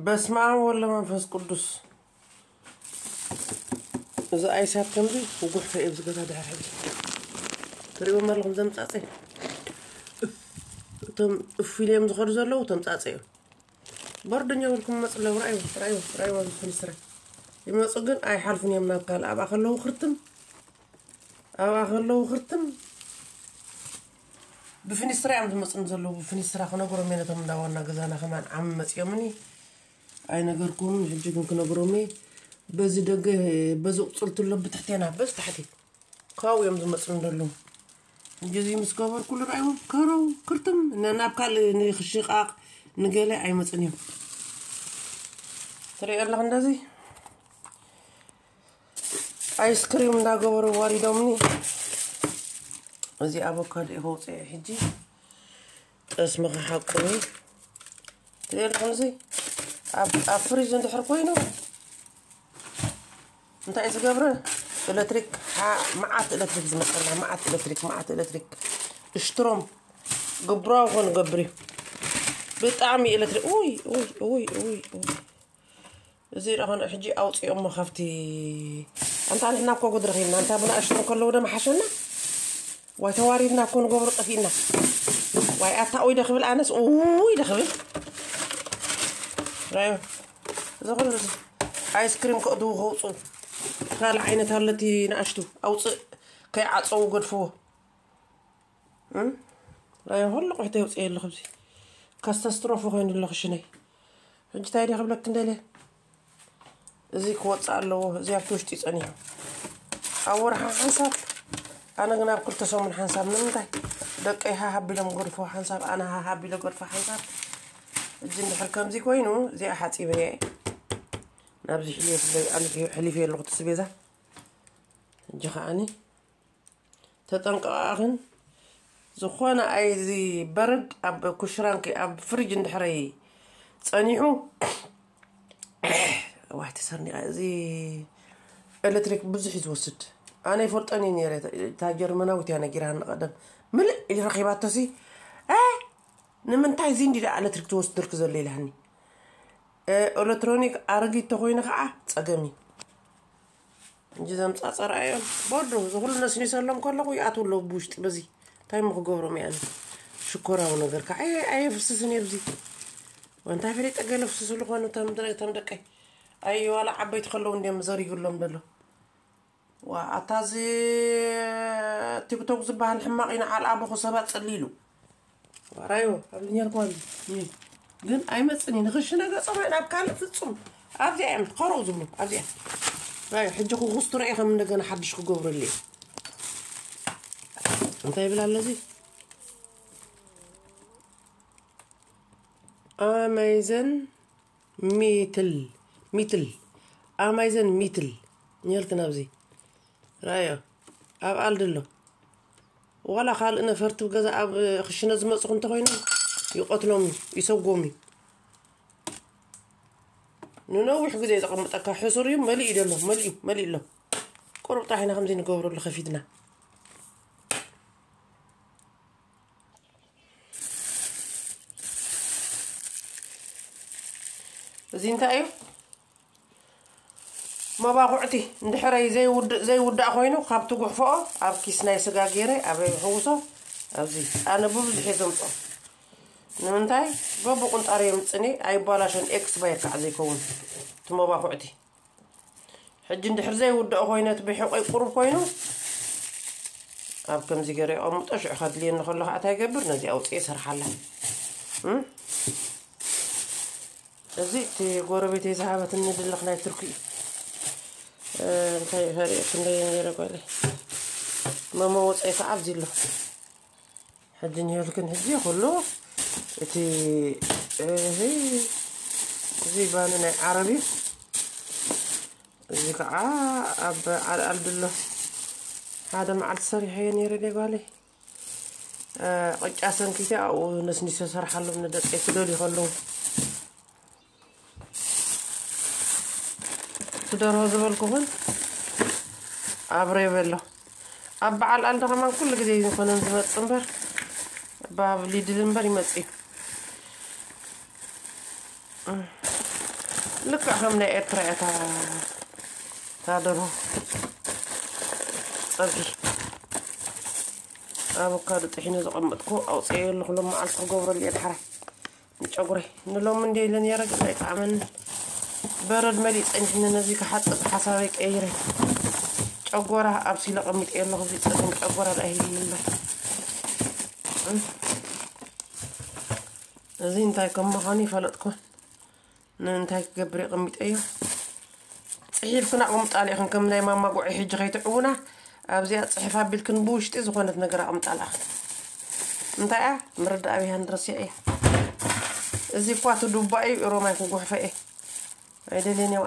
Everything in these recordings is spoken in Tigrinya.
በስመ ኣብ ወወልድ ወመንፈስ ቅዱስ። እዚ ኣይሳት ከምዚ ውጉሕ ከእብ ዝገዛ ድሕር ሕጂ ትሪእዎም ኣለኹም። ዘምጻጸ እቶም እፍ ኢሎም ዝኸዱ ዘለዉ ተምጻጸ እዮም። በርደኛ ወልኩም መጽ ኣለዉ። ራእዩ ራእዩ ራእዩ ፍንስረ ይመጹ ግን ኣይሓልፉን እዮም ናብ ካልእ። ኣብኣ ከለዉ ክርትም ኣብኣ ከለዉ ክርትም ብፍኒስትራ እዮም ዝመፁን ዘለዉ። ብፍኒስትራ ክነግሮም እየ ነቶም እንዳዋና ገዛና ከማን ዓሚ መፅኦምኒ ኣይነገርኩምን። ሕጂ ግን ክነግሮም እየ። በዚ ደገ በዚ ቁፅልቲ ኣሎ ብትሕቴና በዚ ታሕቲ ካብኡ እዮም ዝመፁን ዘለዉ። ሕጂ እዚ ምስ ገበርኩሉ ርኣይዎም ከረው ክርትም ነ- ናብ ካልእ ንክሽቃቅ ንገለ ኣይመፅን እዮም። ትሪኦ ኣለኽ እንደዚ ኣይስክሪም እንዳገበሩ ዋሪዶምኒ። እዚ ኣቮካዶ እዩ ከውፅኦ ሕጂ ጠስሚ ክሓቁኒ ትደልኩም እዚ ኣብ ኣብ ፍሪጅ እንድሕር ኮይኑ እንታይ ዝገብረ ኤሌክትሪክ ሓ- መዓት ኤሌክትሪክ ዝመፀና መዓት ኤሌክትሪክ መዓት ኤሌክትሪክ እሽትሮም ግብራዊ ኮን ገብር እዩ ብጣዕሚ ኤሌክትሪክ ውይ ውይ ውይ ውይ ውይ እዚ ደኾነ ሕጂ ኣውፅኦሞ ካብቲ ኣንታ ንሕና እኮ ጉድ ረኺብና እንታ ብናእሽቱ ከለዉ ደማ ሓሸና ዋይ ተዋሪድና እኮ ንገብሮ ጠፊእና ዋይ ኣታ ኡይ ደኽብል ኣነስ ኡይ ደኽብል ራዮ እዚ ኩሉ እዚ ኣይስክሪም ከእትዉ ከውፁ ካልእ ዓይነት ኣለቲ ንኣሽቱ ኣውፅእ ከይዓፀዉ ገድፍዎ ራዮ ኩሉ ቁሕተ የውፅእ ኣለኹ እዚ ካስታስትሮፊ ኮይኑ ኣለኹ ሽነይ ሕጂ እንታይ ደ ክብለክ እንደለ እዚ ክወፅእ ኣለዎ እዚ ኣብቲ ውሽጢ ፀኒሑ ኣብ ወርሓ ሓንሳብ ኣነ ግን ኣብ ክልተ ሰሙን ሓንሳብ ንምንታይ ደቀይ ሃሃቢሎም ጎድፎ ሓንሳብ ኣነ ሃሃቢለ ጎድፎ ሓንሳብ እጂ እንድሕር ከምዚ ኮይኑ እዚኣ ሓፂበ እየ ናብዚ ሕልዮ ፍለይ ኣልፍ ሕሊፍ ኣለኹ ትስቤዛ እጂ ከዓኒ ተጠንቀቓኽን ዝኾነ ኣይዚ በረድ ኣብ ኩሽራንኪ ኣብ ፍሪጅ እንድሕረይ ጸኒሑ ዋይ ተሰርኒቐ እዚ ኤሌክትሪክ ብዙሕ እዩ ዝወስድ ኣነ ይፈልጠን እዩ ነረ እታ ጀርመናዊት እያ ነጊራኒ ቀደም ምልእ ኢሉ ረኺባቶሲ እ ንምንታይ እዚ እንዲ ደኣ ኤሌክትሪክ ትወስድልክ ዘሎ ኢላኒ ኤሌክትሮኒክ ኣረጊት ተኮይኑ ከዓ ፀገም እዩ እንጂ ዘምፃፀራ እዮም ቦዶ ዝኩሉ ነስኒሰሎም ከለኩ ይኣትዉ ኣለዉ ብውሽጢ በዚ እንታይ ሞ ክገብሮም እያ ሽኮራዊ ነገር ከዓ ኣየፍስስን እየ ብዚ እንታይ ፈሊጠ ገለ ፍስስሉ ኮኑ ተም ደቀይ ኣይ ዋላ ዓበይቲ ከለዉ እንዲዮም ዘሪግሎም ደሎ ዋ ኣታ እዚ ቲክቶክ ዝበሃል ሕማቕ ኢና ዓልኣቦኹ ሰባት ፀሊሉ ራዮ ኣብዚ ኔርኩም ኣብዚ ግን ኣይመፅን እዩ ንክሽነ ገፆም ናብ ካልእ ፍፁም ኣብዚኣ እዮም ከረው ዝብሉ ኣብዚኣ ራዮ ሕጂ ክኩስቱ ርአ ከም እንደገና ሓድሽ ክገብረሉ እዩ እንታይ ይብል ኣለዚ ኣማይዘን ሚትል ሚትል ኣማይዘን ሚትል ኔርክን ኣብዚ ራዮ ኣብ ኣልዲ ኣሎ ዋላ ካልእ ነፈርቲ ገዛ ኣብ ክሽነ ዝመፁ እንተኮይኖም ይቀትሎም እዩ ይሰጎም እዩ ንነዊሕ ግዜ ዘቐምጠካ ሕሱር እዩ መሊእ ደሎ መሊኡ መሊእ ኣሎ ቁሩብ ጥራሕ ኢና ከምዚ ንገብረሉ ከፊትና እዚ እንታይ እዩ መባኹዕቲ እንድሕረይ ዘይውዳእ ኮይኑ ካብ ትጉሕፈኦ ኣብ ኪስ ናይ ስጋ ገይረ ኣብ ሕውሶ ኣብዚ ኣነ ብብዙሕ እየ ዘምፅኦ ንምንታይ በብቁንጣር የምፅኒ ኣይባላሸን ኤክስባየር ከዓ ዘይከውን እቲ መባኹዕቲ ሕጂ እንድሕር ዘይውዳእ ኮይነ እቲ ብሕቆይ ቁሩብ ኮይኑ ኣብ ከምዚ ገይረ የቐምጦ ሽዑ ከድልየኒ ከሎ ከዓ እንታይ ይገብር ነዚ ኣውፅኤ ይሰርሓላ እዚ እቲ ጎረቤተይ ዝሃበትኒ ድልኽ ናይ ቱርኪ እዩ እንታይ ፈሪኦ ክንደየ ነይረ ጓለይ መመወፀይ ከዓ ኣብዚ ኣሎ ሕጂ ኒውዮርክን ሕጂ ኩሉ እቲ እዚ ባኒ ናይ ዓረብ እዩ እዚ ከዓ ኣብ ዓልዓል ድሎ ሓደ መዓልቲ ሰሪሐዮ ነይረ ደጓለይ ቅጫ ሰንኪተ ኣብኡ ነስኒሶ ሰርሓሎም ንደቀይ ክደልዩ ከለዉ ትደርሆ ዝበልኩኹን ኣብረ ይበሎ ኣብ በዓል ኣልደ ከማን ኩሉ ግዜ ዝኾነን ዝመፅ እምበር ባብ ሊድል እምበር ይመፅ እዩ ልክዕ ከም ናይ ኤርትራ እያ እታ፣ እታ ደርሆ። ጸብሒ ኣቮካዶ ጥሒነ ዘቐመጥኩ ኣውፅኤ ኣለኹ። ሎም መዓልቲ ክገብረሉ እየ ድሓራይ ንጨጉረይ። ንሎም እንደ ኢለ ነረ ግን ኣይጠዓመን። በረድ መሊእ ጸኒሕኒ። ነዚ ክሓጽብ ሓሳበይ ቀይረ። ጨጎራ ኣብሲለ ቀሚጠ ኣለኹ። እዚ ጸገም ጨጎራ ደኣ ይህልኒ እምበር። እዚ እንታይ ከም ምዃኑ ይፈለጥኩን። ንምንታይ ክገብር የቐሚጠዮ? ጽሒፍክን ኣቕምጣሉ ኢኽን፣ ከም ናይ ማማ ጉዒ ሕጂ ከይትዕውና። ኣብዚኣ ጽሕፍ ኣቢልክን ብውሽጢ ዝኾነት ነገር ኣቕምጣላ። እንታይ እያ? ምርዳእ ኣብያ ንረሲዐ እያ። እዚ እኳ እቲ ዱባ እዩ፣ ሮማይ ክጉሕፈ እየ። ኣይደልየን እየ።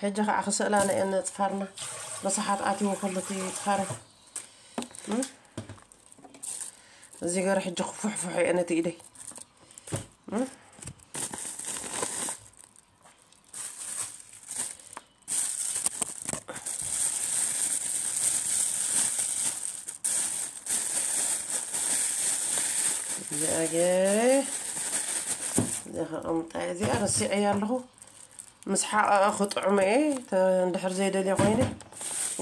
ሕጂ ከዓ ክስእላ ነየን ጽፋርና። ረሳሓት ኣትይዎ ከሎ እቲ ጽፋረ። እም? እዚ ገር ሕጂ ክፉሕፉሕ እየ ነቲ ኢደይ። እም? እዚኣ ገይረ፣ እዚኣ ከቐምጣ እየ። እዚኣ ረሲዐያ ኣለኹ። ምስ ሓቐቐ ክጥዕሞ እየ። ተ-፣ እንድሕር ዘይደልየ ኮይነ፣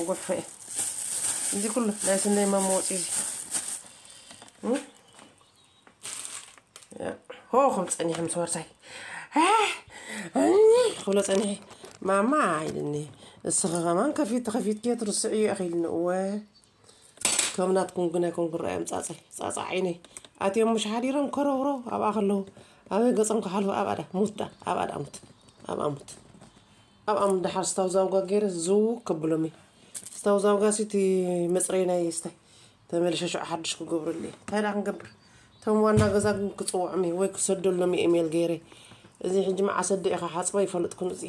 ጉሕፈ እየ። እዚ ኩሉ ናይ ስነይ መመወፂ እዚ። እም? ሆ ክብል ጸኒሐ ምስ ወርሳይ። ክብሎ ጸኒሐ። ማማ ኢልኒ። እስኺ ከማን ከፊት፣ ከፊትኪ ትርስዕዮ ኢኺ ኢልኒ። እወ። ከም ናትኩም ግን ኣይኮንኩን። ርኣዮም ጻጸይ፣ ጻጻ ዓይነይ። ኣትዮም ምሽ ሓዲሮም ከረውረው ኣብኣ ከለዉ። ኣበይ ገጾም ክሓልፉ ኣብኣ ዳ ሙት ዳ፣ ኣብኣ ዳ ሙት። ኣብኣ ሙት። ኣብኣ ሙት። ደሓር ስታውዛውጋ ገይረ ዝው ከብሎም እየ። ስታውዛውጋ ሲ እቲ መጽረይ ናይ ስታይ። ተመልሸ ሽዑ ሓድሽ ክገብረሉ እየ። እንታይ ደኣ ክንገብር? እቶም ዋና ገዛ ግን ክጽውዖም እየ ወይ ክሰደሎም እየ ኢሜል ገይረ። እዚ ሕጂ መዓስ ኣደ ኢኻ ሓጽባ ይፈልጥኩን እዚ።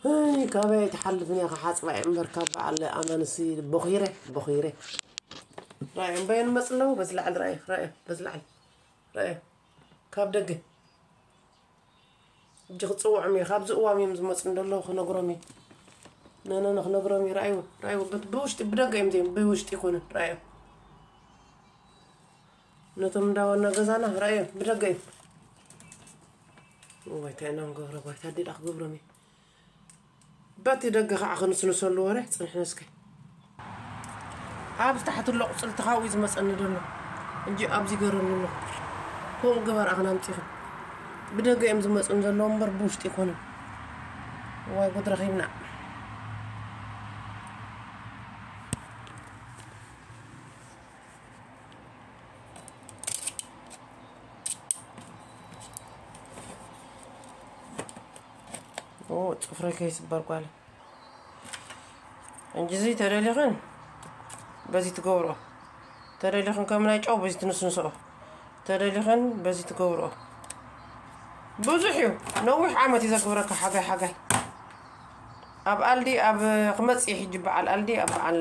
ኣይ፣ ካበይ ኣይትሓልፍን እያ ክሓጽባ እየ እምበር ካብ በዓል ኣማንሲ ቦኺረ፣ ቦኺረ። ራእዮም በየን መጽ ኣለዉ? በዚ ላዕሊ ራእዮ፣ ራእዮ፣ በዚ ላዕሊ ራእዮ። ካብ ደገ። ሕጂ ክጽውዖም እየ። ካብዚ እዋም እዮም ዝመጹ እንደለዉ ክነግሮም እየ። ነነነ ክነግሮም እየ። ራእይዎ፣ ራእይዎ። በት-፣ ብውሽጢ፣ ብደገ እዮም ዘይም-፣ ብውሽጢ ይኮኑን። ራእዮ። ነቶም እንዳዋና ገዛና ራእዮ፣ ብደገ እዮም። እዋይ፣ እንታይ ኢና ንገብሮ? ጓይታ፣ ኣዴ ደኣ ክገብሮም እየ። በቲ ደገ ከዓ ክንስንሰሉ ወረ፣ ጽንሕና እስከ። ኣብዚ ታሕቲ ኣሎ ቁጽልቲ ካብኡ እዩ ዝመጸኒ ዘሎ። እንጂ ኣብዚ ገረኒ ኣሎ። ከምኡ ግበር ኣኽን ኣምጺኽን። ብደገ እዮም ዝመጹን ዘለዉ እምበር ብውሽጢ ኣይኮኑን። ዋይ ጉድ ረኺብና። ኦ፣ ጽፍረይ ከይስበር ጓለ። እንጂ እዚ ተደሊኽን በዚ ትገብሮ። ተደሊኽን ከም ናይ ጨው በዚ ትንስንስኦ። ተደሊኽን በዚ ትገብሮ። ብዙሕ እዩ። ነዊሕ ዓመት እዩ ዘግብረካ ሓጋይ ሓጋይ። ኣብ ኣልዲ ኣብ ክመጽእ እዩ ሕጂ በዓል ኣልዲ ኣብ በዓል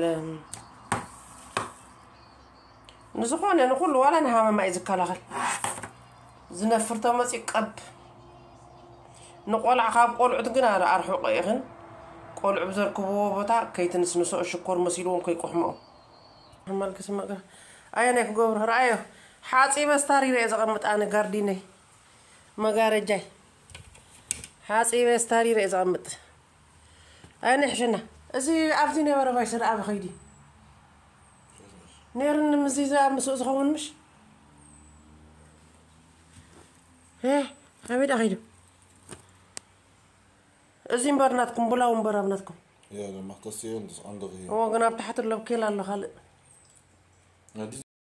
ንዝኾነ ንኹሉ ዋላ ንሃመማ እዩ ዝከላኸል። ዝነፍር ተመፂኡ ቀብ። ንቆልዓ ካብ ቆልዑት ግን ኣረ ኣርሕቆ ኢኽን። ቆልዑ ብዘርክብዎ ቦታ ከይትንስንሶ ሽኮር መሲልዎም ከይቆሕምኦም። ሕማል ክስመቅ ኣየ ናይ ክገብሮ ረኣዮ። ሓፂበ ስታሪረ እየ ዘቐምጥ ኣነ ጋርዲነይ። መጋረጃይ። ሓፂበ ስታሪረ እየ ዘቐምጥ። ኣነ ሕሸና። እዚ ኣብዚ ነበረ ባይ ሰደ ኣብ ኸይዲ። ነይርኒ ምዚ እዛ ምስኡ ዝኸውን ምሽ? እ፣ ኣበይ ደኣ ኸይዱ? እዚ እምበር ናትኩም፣ ብላው እምበር ኣብ ናትኩም። Ja, dan mag dat zien, dat is andere hier. እዎ፣ ግን ኣብ ታሕቲ ኣሎ፣ ኬል ኣሎ ካልእ። Ja, die